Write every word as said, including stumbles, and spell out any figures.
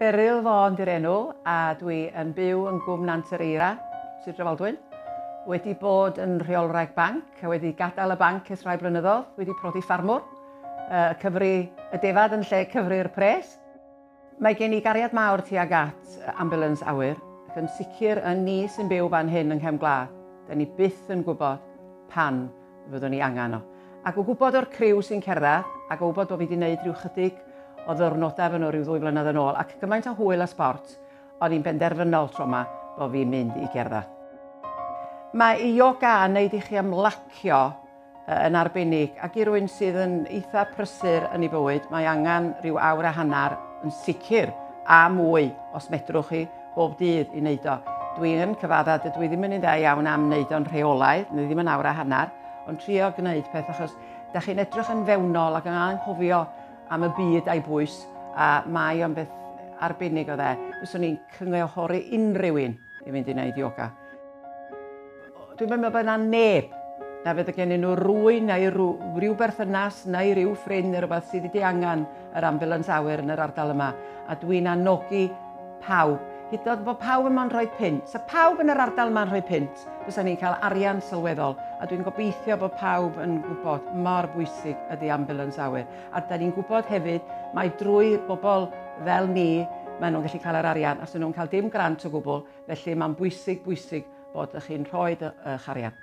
Beryl Vaughan di'r enw a dwi yn byw yn Gwm Nant yr Eira, Sir Drefaldwyn. Wedi bod yn rheolwraig banc a wedi gadael y banc ers rhai blynyddoedd, wedi prodi ffarmwr, uh, cyfri y defad yn lle cyfri'r pres. Mae gen i gariad mawr tuag at ambulance awyr, ac yn sicr yn ni sy'n byw fan hyn yng nghefn gwlad, da ni byth yn gwybod pan fyddwn ni angen o. Ac o gwybod o'r criw sy'n cerdded, ac o gwybod bod fi wedi gwneud rhyw chydig o ddwrnodau efo nhw rhyw ddwy flynedd yn ôl, ac gymaint o hwyl a sbort, o'n i'n benderfynol tro yma bod fi'n mynd i gerdded. Mae yoga yn neud i chi ymlacio yn arbennig, ac i rywun sydd yn eitha prysur yn ei bywyd, mae angen rhyw awr a hanner yn sicr a mwy os medrwch chi bob dydd i wneud o. Dwi'n cyfadda, dydw i ddim yn un dda iawn am wneud o'n rheolaidd, neu ddim yn awr a hanner, ond trio gwneud peth achos da chi'n edrych yn fewnol ac yn anghofio am y byd a'i bwys, a mae o'n beth arbennig o dde. Fyswn i'n cynghori unrhyw un i fynd i wneud yoga. Dwi'n meddwl bod yna neb na fydd gen nhw rywun neu rhyw, rhyw berthynas neu rhyw ffrind neu rhywbeth sydd wedi angen yr ambulance awyr yn yr ardal yma. A dwi'n anogi pawb. Hyd yn oed bod pawb yma'n rhoi punt. Sa pawb yn yr ardal yma'n rhoi punt, fysa ni'n cael arian sylweddol. A dwi'n gobeithio bod pawb yn gwybod mor bwysig ydy ambulance awyr. A da ni'n gwybod hefyd, mae drwy bobl fel ni, maen nhw'n gallu cael yr arian, a nhw'n cael dim grant o gwbl, felly mae'n bwysig, bwysig bod ych chi'n rhoi eich arian.